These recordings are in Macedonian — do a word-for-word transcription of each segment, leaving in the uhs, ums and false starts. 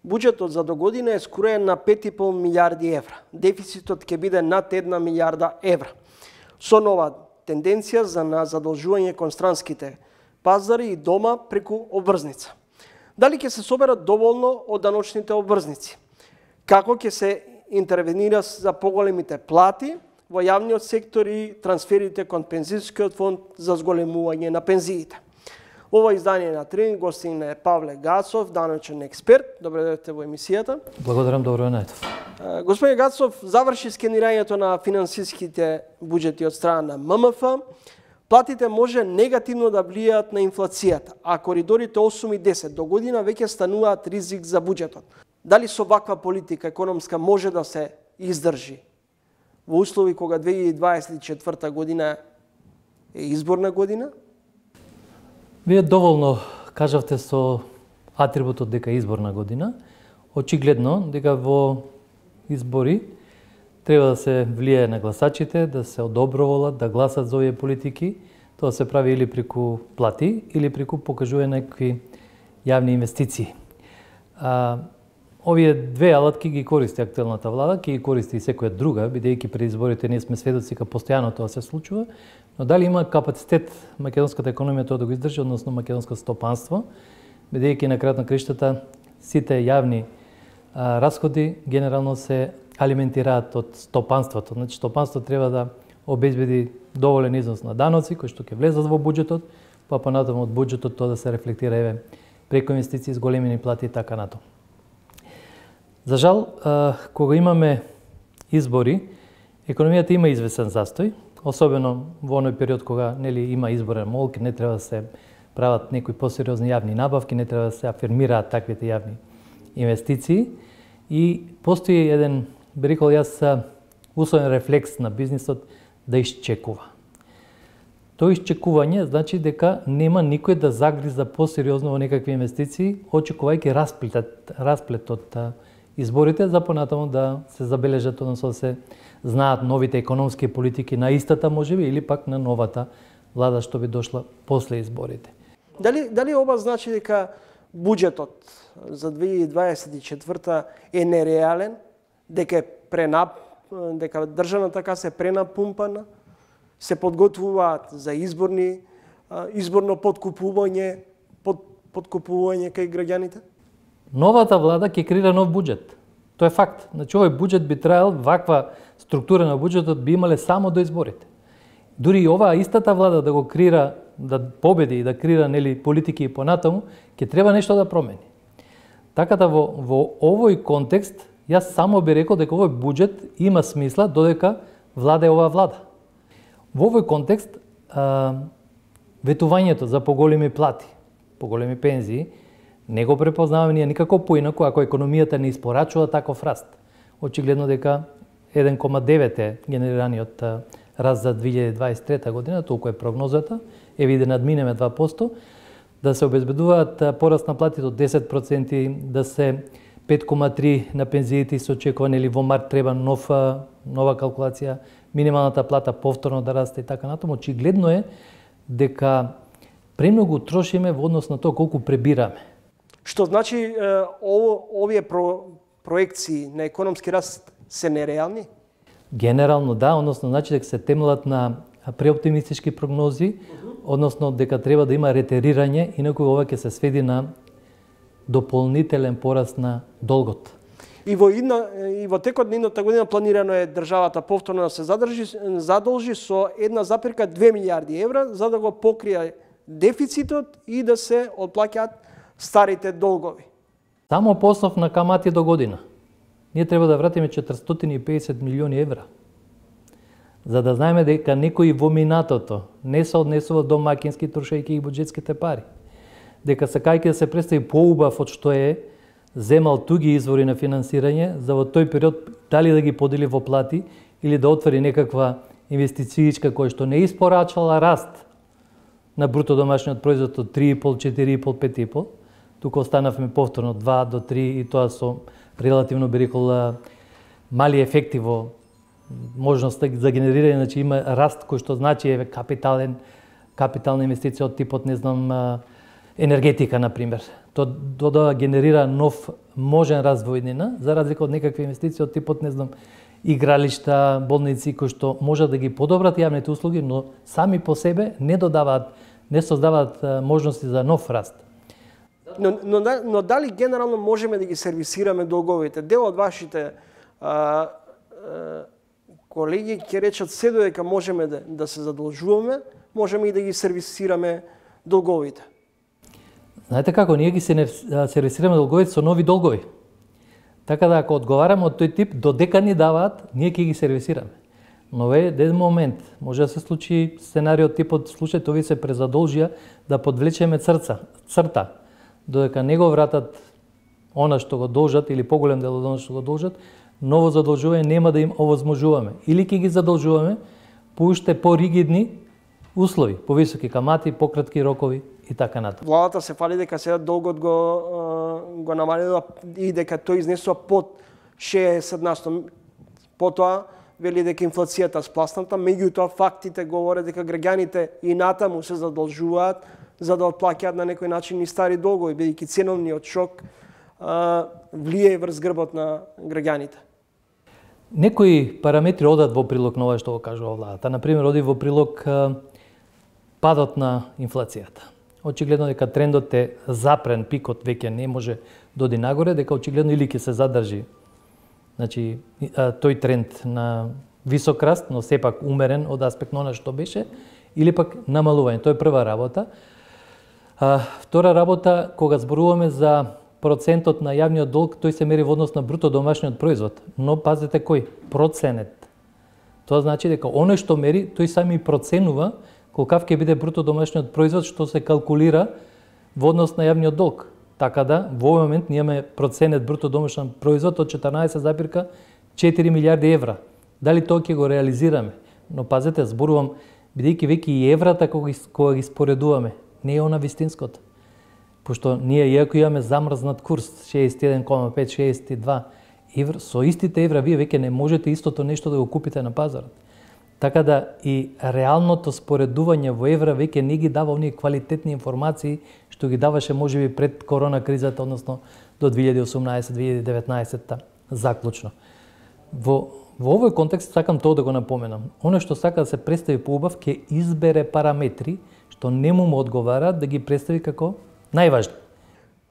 Буџетот за до година е скроен на пет и пол милијарди евра. Дефицитот ќе биде над една милијарда евра. Со нова тенденција за на задолжување кон странските пазари и дома преку обврзница. Дали ќе се соберат доволно од даночните обврзници? Како ќе се интервенира за поголемите плати во јавниот сектор и трансферите кон пензискиот фонд за зголемување на пензиите? Ова издание на Тренинг гостин е Павле Гацов, даночен експерт. Добре дојдовте во емисијата. Благодарам, добро најдов. Господин Гацов заврши скенирањето на финансиските буџети од страна на М М Ф. Платите може негативно да влијаат на инфлацијата, а коридорите осум и десет до година веќе стануваат ризик за буџетот. Дали со ваква политика економска може да се издржи во услови кога две илјади дваесет и четврта година е изборна година? Вие доволно кажавте со атрибутот дека е изборна година. Очигледно дека во избори треба да се влијае на гласачите, да се одоброволат, да гласат за овие политики. Тоа се прави или преку плати, или преку покажување некакви јавни инвестиции. А, овие две алатки ги користи актуелната влада, ќе ги користи и секоја друга, бидејќи пред изборите ние сме сведоци дека постојано тоа се случува, но дали има капацитет македонската економија тоа да го издржи, односно македонското стопанство, бидејќи на крајот на краиштата сите јавни а, расходи генерално се алиментираат од стопанството. Значи стопанството треба да обезбеди доволен износ на даноци кои што ќе влезат во буџетот, па понатаму од буџетот тоа да се рефлектира еве преку инвестиции, зголемени плати и така натаму. За жал, кога имаме избори, економијата има известен застој, особено во оној период кога нели има изборен молк, не треба да се прават некои посериозни јавни набавки, не треба да се афирмираат таквите јавни инвестиции и постои еден, би рекол јас, условен рефлекс на бизнисот да изчекува. Тоа изчекување значи дека нема никој да загриза посериозно во некакви инвестиции, очекувајќи расплетот, расплетот изборите за понатаму да се забележат, односно да се знаат новите економски политики на истата можеби или пак на новата влада што би дошла после изборите. Дали дали ова значи дека буџетот за две илјади дваесет и четврта е нереален, дека е пренап, дека државната каса е пренапумпана, се подготвуваат за изборни изборно подкупување, под, подкупување кај граѓаните? Новата влада ќе креира нов буџет. Тоа е факт. Значи овој буџет би траел, ваква структура на буџетот би имале само до изборите. Дури и оваа истата влада да го креира, да победи и да креира нели политики и понатаму, ќе треба нешто да промени. Така да во, во овој контекст јас само би рекол дека овој буџет има смисла додека влада е оваа влада. Во овој контекст а, ветувањето за поголеми плати, поголеми пензии, не го препознаваме ние никако поинаку ако економијата не испорачува таков раст. Очигледно дека еден кома девет е генерираниот раст за две илјади дваесет и трета година, толку е прогнозата, еве да надминеме два проценти, да се обезбедуваат пораст на платите од десет проценти, да се пет кома три на пензиите се очекува, нели во март треба нов, нова калкулација, минималната плата повторно да расте и така натаму. Очигледно е дека премногу трошиме во однос на тоа колку пребираме. Што значи ово, овие про, проекции на економски раст се нереални? Генерално да, односно значи дека се темелат на преоптимистички прогнози, односно дека треба да има ретерирање, инаку ова ќе се сведи на дополнителен пораст на долгот. И во една, и во текот на едната година планирано е државата повторно да се задржи, задолжи со една запирка две милијарди евра за да го покрие дефицитот и да се отплаќаат старите долгови. Само по основ на камати до година ние треба да вратиме четиристотини и педесет милиони евра. За да знаеме дека некои во минатото не се однесува домаќински трошејќи и буџетските пари. Дека сакајќи да се представи поубав од што е, земал туги извори на финансирање, за во тој период дали да ги подели во плати или да отвори некаква инвестицијичка која што не испорачала раст на бруто домашниот производ од три и пол, четири и пол, пет и пол, тука останавме повторно два до три и тоа со релативно би рекол мали ефекти во можноста за генерирање, значи има раст кој што значи е капитален, капитална инвестиција од типот, не знам, енергетика, на пример. што додава генерира нов можен развој иднина, за разлика од некакви инвестиции од типот, не знам, игралишта, болници кои што можат да ги подобрат јавните услуги, но сами по себе не додаваат, не создаваат можности за нов раст. Но, но, но дали генерално можеме да ги сервисираме долговите? Дел од вашите а, а, колеги ќе речат се додека можеме да, да се задолжуваме, можеме и да ги сервисираме долговите. Знаете како, ние ги сервисираме долговите со нови долгови. Така да ако одговараме од тој тип, додека ни даваат, ние ќе ги сервисираме. Но е ден момент, може да се случи сценариот типот случај овие се презадолжија да подвлечеме црца, црта, додека не го вратат она што го должат или поголем дел од она што го должат, ново задолжување нема да им овозможуваме. Или ќе ги задолжуваме по уште поригидни услови, повисоки камати, пократки рокови и така натаму. Владата се фали дека сега долгот го го намалила и дека тој изнесува под шеесет на сто. Потоа вели дека инфлацијата спласната, меѓутоа фактите говорат дека граѓаните и натаму се задолжуваат за да отплаќаат на некој начин и стари долгови, бидејќи ценовниот шок а, влие врз грбот на граѓаните. Некои параметри одат во прилог на ова што го кажува владата. Например, оди во прилог а, падот на инфлацијата. Очигледно дека трендот е запрен, пикот веќе не може да оди нагоре, дека очигледно или ќе се задржи, значи тој тренд на висок раст, но сепак умерен од аспект на она што беше, или пак намалување. Тоа е прва работа. А, втора работа, кога зборуваме за процентот на јавниот долг, тој се мери во однос на бруто домашниот производ. Но пазете кој? Проценет. Тоа значи дека оној што мери, тој сами проценува колкав ќе биде бруто домашниот производ што се калкулира во однос на јавниот долг. Така да, во овој момент ние имаме проценет бруто домашен производ од четрнаесет запирка четири милијарди евра. Дали тоа ќе го реализираме? Но пазете, зборувам, бидејќи веќе и еврата кога ги, кога ги споредуваме, не е она вистинското. Пошто ние, иако имаме замрзнат курс шеесет и еден кoma пет шеесет и два евра, со истите евра вие веќе не можете истото нешто да го купите на пазарот. Така да и реалното споредување во евра веќе не ги дава оние квалитетни информации што ги даваше можеби пред корона кризата, односно до две илјади и осумнаесет две илјади и деветнаесет заклучно. Во, во овој контекст сакам тоа да го напоменам. Оно што сака да се представи поубав ќе избере параметри што не му му одговараат да ги представи како најважни.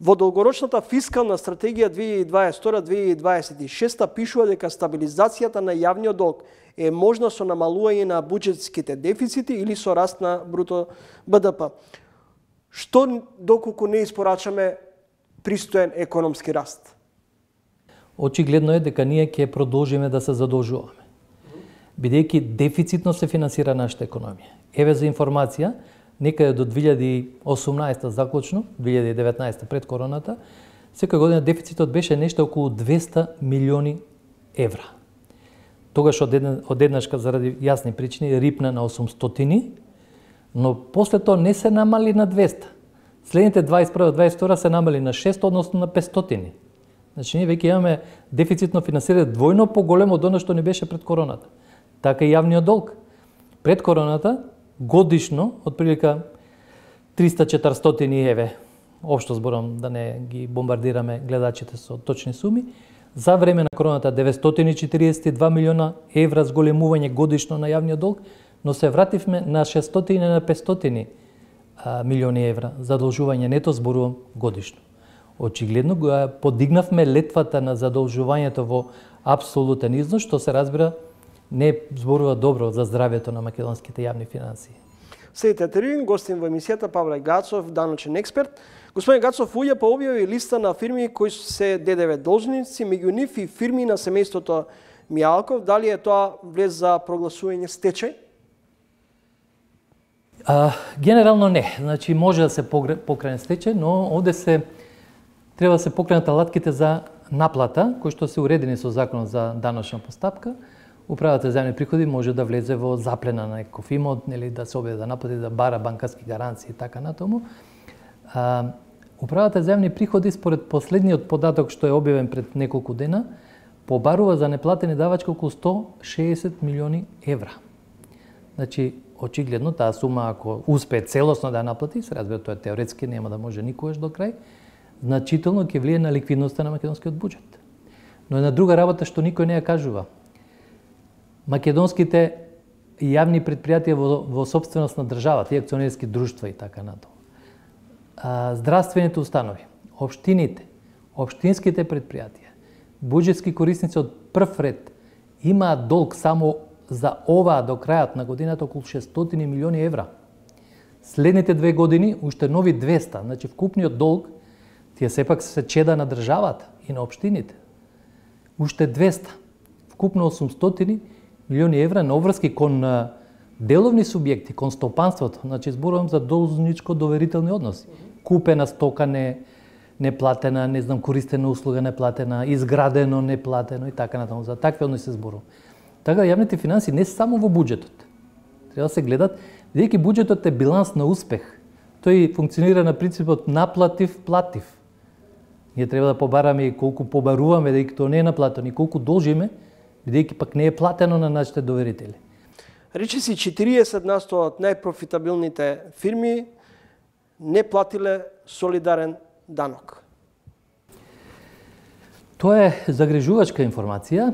Во долгорочната фискална стратегија две илјади и дваесет и втора - две илјади и дваесет и шеста пишува дека стабилизацијата на јавниот долг е можна со намалување на буџетските дефицити или со раст на бруто Б Д П. Што доколку не испорачаме пристоен економски раст? Очигледно е дека ние ќе продолжиме да се задолжуваме. Бидејќи дефицитно се финансира нашата економија. Еве за информација, некаде до две илјади и осумнаесета заклучно, две илјади и деветнаесета пред короната, секоја година дефицитот беше нешто околу двеста милиони евра. Тогаш одеднашка заради јасни причини рипна на осумстотини, но после тоа не се намали на двеста. Следните дваесет и прва - дваесет и втора се намали на шест, односно на петстотини. Значи ние веќе имаме дефицитно финансирање двојно поголемо од она што не беше пред короната. Така и јавниот долг. Пред короната годишно отприлика триста четиристотини еве, општо зборам да не ги бомбардираме гледачите со точни суми, за време на короната деветстотини и четириесет и два милиона евра зголемување годишно на јавниот долг, но се вративме на шестстотини на петстотини милиони евра задолжување нето зборувам годишно. Очигледно го подигнавме летвата на задолжувањето во апсолутен износ, што се разбира не зборува добро за здравјето на македонските јавни финансии. Следите терин, гостин во емисијата Павле Гацов, даночен експерт. Господин Гацов, УЈП објави листа на фирми кои се Д Д В должници, меѓу нив и фирми на семејството Мијалков. Дали е тоа влез за прогласување стечај? А, генерално не. Значи може да се покране стечај, но овде се треба да се покренат алатките за наплата, кои што се уредени со законот за даночна постапка. Управата за земјни приходи може да влезе во заплена на некој имот, нели да се објави да наплати, да бара банкарски гаранции и така натаму. А, Управата за земјни приходи според последниот податок што е објавен пред неколку дена, побарува за неплатени давачки околу сто шеесет милиони евра. Значи, очигледно таа сума ако успее целосно да ја наплати, се разбира тоа теоретски нема да може никогаш до крај, значително ќе влие на ликвидноста на македонскиот буџет. Но една друга работа што никој не ја кажува. Македонските јавни предпријатија во, во собственост на државата и акционерски друштва и така натаму. Здравствените установи, општините, општинските предпријатија, буџетски корисници од прв ред имаат долг само за оваа до крајот на годината околу шестстотини милиони евра. Следните две години уште нови двеста, значи вкупниот долг тие сепак се чеда на државата и на општините. Уште двеста, вкупно осумстотини милиони евра на обврски кон деловни субјекти, кон стопанството, значи зборувам за должничко доверителни односи. Купена стока не неплатена, не знам, користена услуга неплатена, изградено неплатено и така натаму. За такви односи се зборува. Така јавните финанси не само во буџетот. Треба да се гледат, бидејќи буџетот е биланс на успех. Тој функционира на принципот наплатив, платив. Ние треба да побараме и колку побаруваме, бидејќи тоа не е наплатено, и колку должиме, бидејќи пак не е платено на нашите доверители. Речи си четириесет на сто од најпрофитабилните фирми не платиле солидарен данок. Тоа е загрижувачка информација.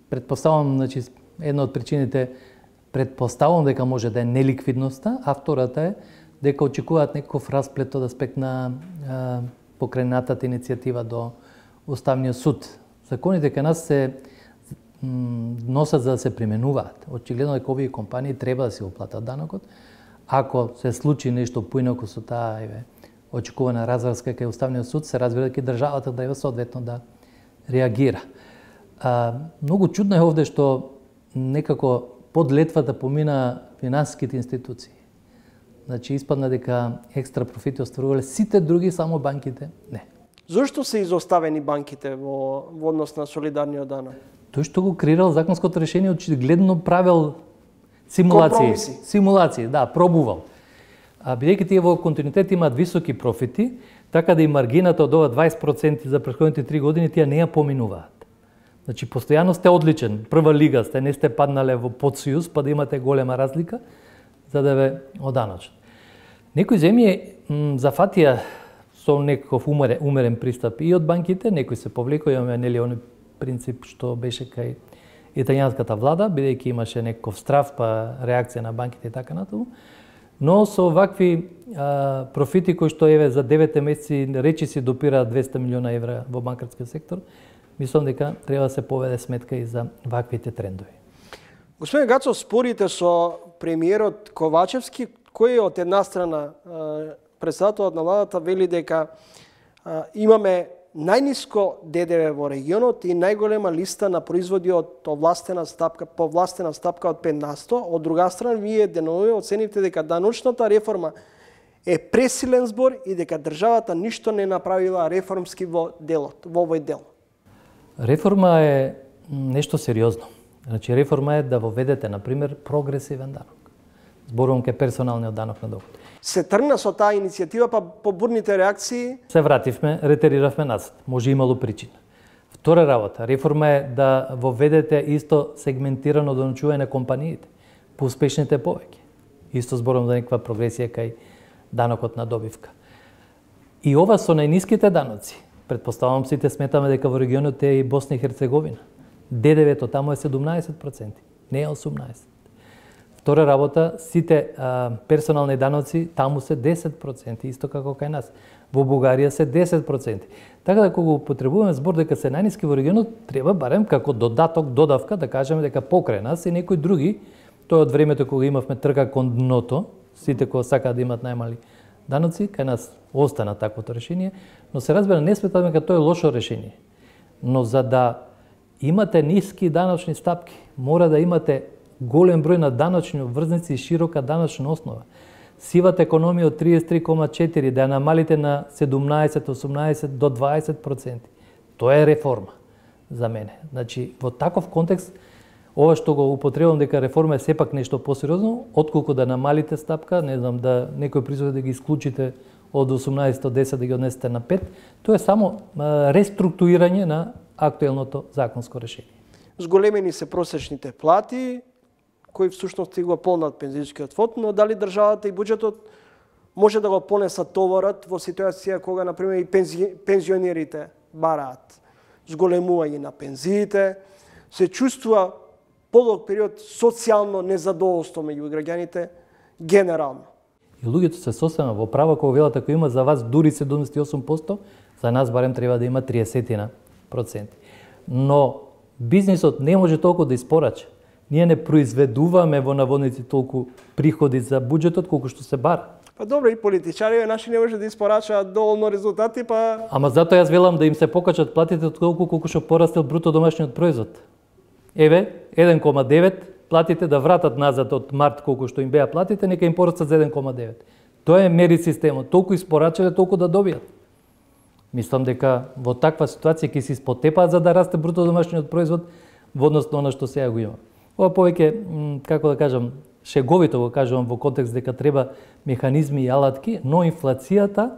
Предпоставувам, значи, една од причините предпоставувам дека може да е неликвидноста, а втората е дека очекуваат некој расплет од аспект на а, покренатата иницијатива до Уставниот суд. Законите кај нас се носат за да се применуваат. Очигледно дека овие компании треба да се оплатат данокот. Ако се случи нешто поинаку со таа еве очекувана разврска кај Уставниот суд, се разбира дека државата треба соодветно да реагира. А, многу чудно е овде што некако под летвата помина финансиските институции. Значи испадна дека екстра профити остварувале сите други, само банките не. Зошто се изоставени банките во, во однос на солидарниот данок? Тој што го креирал законското решение очигледно правел симулации, компромиси. Симулации, да, пробувал. А бидејќи тие во континуитет имаат високи профити, така да и маргината од ова дваесет проценти за претходните три години тие не ја поминуваат. Значи постојано сте одличен, прва лига сте, не сте паднале во подсојуз, па да имате голема разлика за да ве оданочат. Некои земји зафатија со некаков умерен, умерен пристап и од банките, некои се повлекоа, имаме нели оној принцип што беше кај италијанската влада, бидејќи имаше некаков страв па реакција на банките и така натаму. Но со вакви а, профити кои што еве за девет месеци речи си допираат двесте милиона евра во банкарскиот сектор, мислам дека треба да се поведе сметка и за ваквите трендови. Господин Гацов, спорите со премиерот Ковачевски, кој од една страна председателот на владата вели дека а, имаме најниско Д Д В во регионот и најголема листа на производи од овластена стапка, повластена стапка од пет на сто. Од друга страна, вие денови оценивте дека даночната реформа е пресилен збор и дека државата ништо не направила реформски во делот, во овој дел. Реформа е нешто сериозно. Значи реформа е да воведете, например, прогресивен данок. Зборувам ке персоналниот данок на доход. Се тргна со таа иницијатива, па по бурните реакции се вративме, ретериравме назад. Може имало причина. Втора работа, реформа е да воведете исто сегментирано доночување на компаниите, по успешните повеќе. Исто зборувам за некаква прогресија кај данокот на добивка. И ова со најниските даноци. Предпоставувам сите сметаме дека во регионот е и Босна и Херцеговина. Д Д В-то таму е седумнаесет проценти, не е осумнаесет. Втора работа, сите а, персонални даноци таму се десет проценти, исто како кај нас. Во Бугарија се десет проценти. Така да кога употребуваме збор дека се најниски во регионот, треба барем како додаток, додавка да кажеме дека покрај нас и некои други, тоа од времето кога имавме трка кон дното, сите кои сакаат да имат најмали даноци, кај нас остана таквото решение, но се разбира не сметаме дека тоа е лошо решение. Но за да имате ниски даночни стапки, мора да имате голем број на даночни обврзници и широка даночна основа. Сивата економија од триесет и три кома четири да ја намалите на седумнаесет, осумнаесет до дваесет проценти. Тоа е реформа за мене. Значи, во таков контекст, ова што го употребувам дека реформа е сепак нешто посериозно, отколку да намалите стапка, не знам, да некој производ да ги исклучите од осумнаесет до десет да ги однесете на пет, тоа е само реструктурирање на актуелното законско решение. Зголемени се просечните плати, кои всушност го полнат пензионскиот фонд, но дали државата и буџетот може да го понесат товарот во ситуација кога, например, и пензи, пензионерите бараат зголемување на пензиите, се чувствува подолг период социјално незадоволство меѓу граѓаните генерално. И луѓето се сосема во право кога велат ако има за вас дури седумдесет и осум проценти, за нас барем треба да има триесет проценти. Но бизнисот не може толку да испорача. Ние не произведуваме во наводници толку приходи за буџетот колку што се бара. Па добро, и политичари наши не може да испорачаат доволно резултати, па... Ама затоа јас велам да им се покачат платите толку колку што порастел бруто домашниот производ. Еве, еден кома девет, платите да вратат назад од март колку што им беа платите, нека им порастат за еден кома девет. Тоа е мери системот, толку испорачале, толку да добијат. Мислам дека во таква ситуација ќе се испотепаат за да расте бруто домашниот производ во однос на она што сега го има. Ова повеќе, како да кажам, шеговито го кажувам во контекст дека треба механизми и алатки, но инфлацијата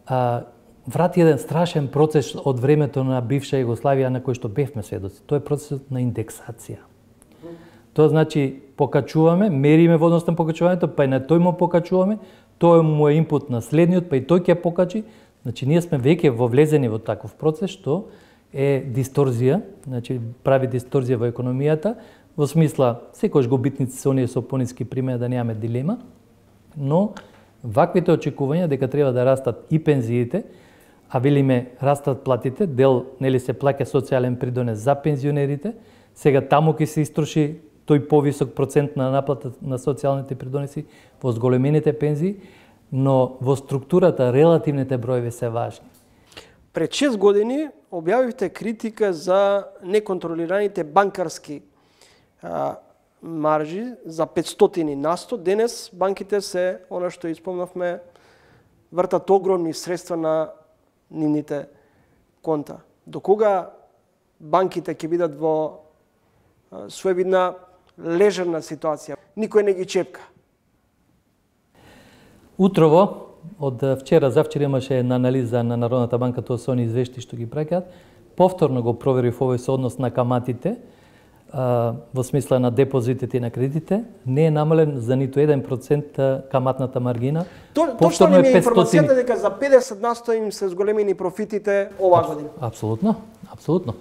а, врати еден страшен процес од времето на бивша Југославија на кој што бевме сведоци. Тоа е процесот на индексација. Тоа значи покачуваме, мериме во однос на покачувањето, па и на тој му покачуваме, тој му е инпут на следниот, па и тој ќе покачи. Значи ние сме веќе вовлезени во таков процес што е дисторзија, значи прави дисторзија во економијата, во смисла секојаш губитници се оние со пониски примери да немаме дилема, но ваквите очекувања дека треба да растат и пензиите, а велиме растат платите, дел нели се плаќа социјален придонес за пензионерите, сега таму ќе се истроши тој повисок процент на наплата на социјалните придонеси во зголемените пензии, но во структурата релативните броеви се важни. Пред шест години објавивте критика за неконтролираните банкарски а, маржи за петстотини на сто. Денес банките се, она што испомнавме, вртат огромни средства на нивните конта. До кога банките ќе бидат во а, своевидна лежерна ситуација? Никој не ги чепка. Утрово, од вчера, завчера имаше една анализа на Народната банка, тоа се они извешти што ги праќаат. Повторно го проверив овој со однос на каматите, а, во смисла на депозитите и на кредитите. Не е намален за ниту еден процент каматната маргина. То, точно ли ми е информацијата дека за педесет на сто им се зголемени профитите оваа година? Апсолутно, апсолутно.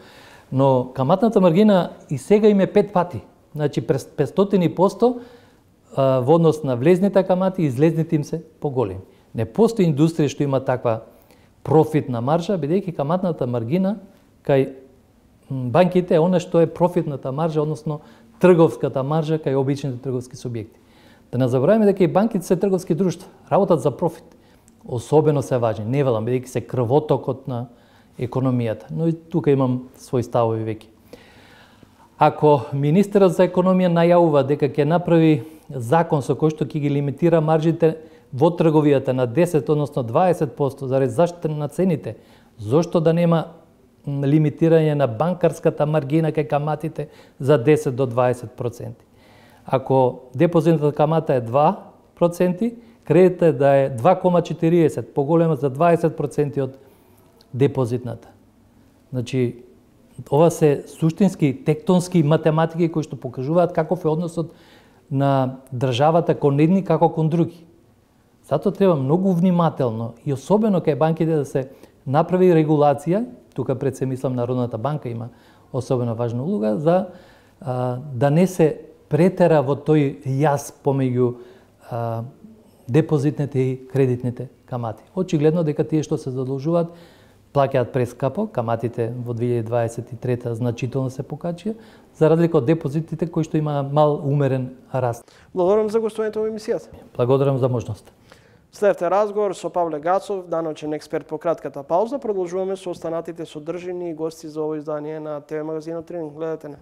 Но каматната маргина и сега им е пет пати. Значи, през петстотини проценти во однос на влезните камати, излезните им се поголеми. Не постои индустрија што има таква профитна маржа, бидејќи каматната маргина кај банките е она што е профитната маржа, односно трговската маржа кај обичните трговски субјекти. Да не забораваме дека и банките се трговски друштва, работат за профит. Особено се важни, не велам, бидејќи се крвотокот на економијата, но и тука имам своји ставови веќе. Ако министерот за економија најавува дека ќе направи закон со кој што ќе ги лимитира маржите во трговијата на десет, односно дваесет проценти заради заштита на цените, зошто да нема лимитирање на банкарската маргина кај каматите за десет до дваесет проценти? Ако депозитната камата е два проценти, кредитот е да е два кома четириесет, поголема за дваесет проценти од депозитната. Значи, ова се суштински тектонски математики кои што покажуваат каков е односот на државата кон едни како кон други. Затоа треба многу внимателно и особено кај банките да се направи регулација, тука пред се мислам Народната банка има особено важна улога, за а, да не се претера во тој јаз помеѓу а, депозитните и кредитните камати. Очигледно дека тие што се задолжуваат плаќаат прескапо, каматите во две илјади дваесет и трета значително се покачија, за разлика од депозитите кои што има мал умерен раст. Благодарам за гостувањето во емисијата. Благодарам за можноста. Следете разговор со Павле Гацов, даночен експерт по кратката пауза. Продолжуваме со останатите содржини и гости за ово издание на ТВ магазинот Тренинг. Гледате не.